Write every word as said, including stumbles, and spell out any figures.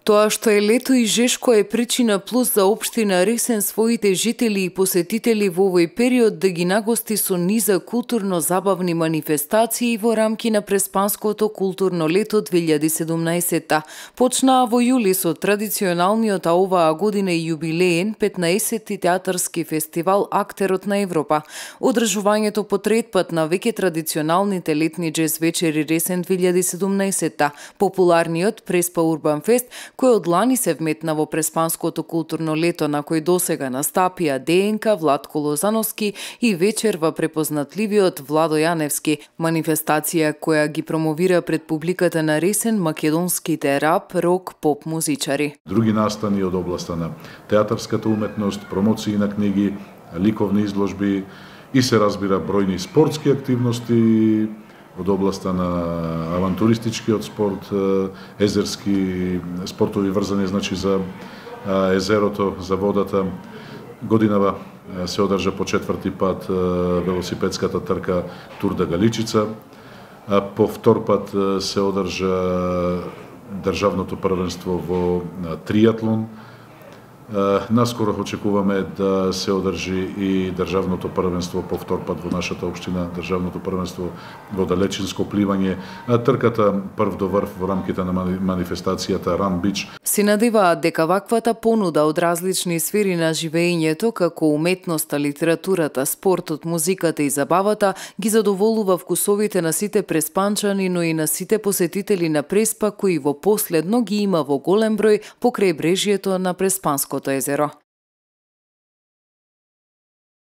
Тоа што е лето и жешко е причина плюс за општина Ресен своите жители и посетители во овој период да ги нагости со низа културно-забавни манифестации во рамки на Преспанското културно лето две илјади и седумнаесетта. Почнаа во јули со традиционалниот, а оваа година и јубилеен петнаесетти театарски фестивал Актерот на Европа. Одржувањето по трет пат на веќе традиционалните летни џез вечери Ресен две илјади и седумнаесетта, популарниот Преспа Урбан Фест, кој од лани се вметна во Преспанското културно лето, на кој досега настапија ДНК, Владко Лозановски и вечерва препознатливиот Владо Јаневски. Манифестација која ги промовира пред публиката на Ресен македонските рап, рок, поп музичари. Други настани од областа на театарската уметност, промоции на книги, ликовни изложби и се разбира бројни спортски активности од областа на авантуристичкиот спорт, езерски спортови врзани значи за езерото, за водата. Годинава се одржа по четврти пат велосипедската трка Тур да Галичица. По втор пат се одржа државното првенство во триатлон. Наскоро очекуваме да се одржи и државното првенство по втор пат во нашата општина, државното првенство во далечинско пливање, трката прв до врв во рамките на манифестацијата Run Beach. Се надеваат дека ваквата понуда од различни сфери на живеењето, како уметноста, литературата, спортот, музиката и забавата, ги задоволува вкусовите на сите преспанчани, но и на сите посетители на Преспа, кои во последно ги има во голем број покрај брежјето на Преспанското езеро.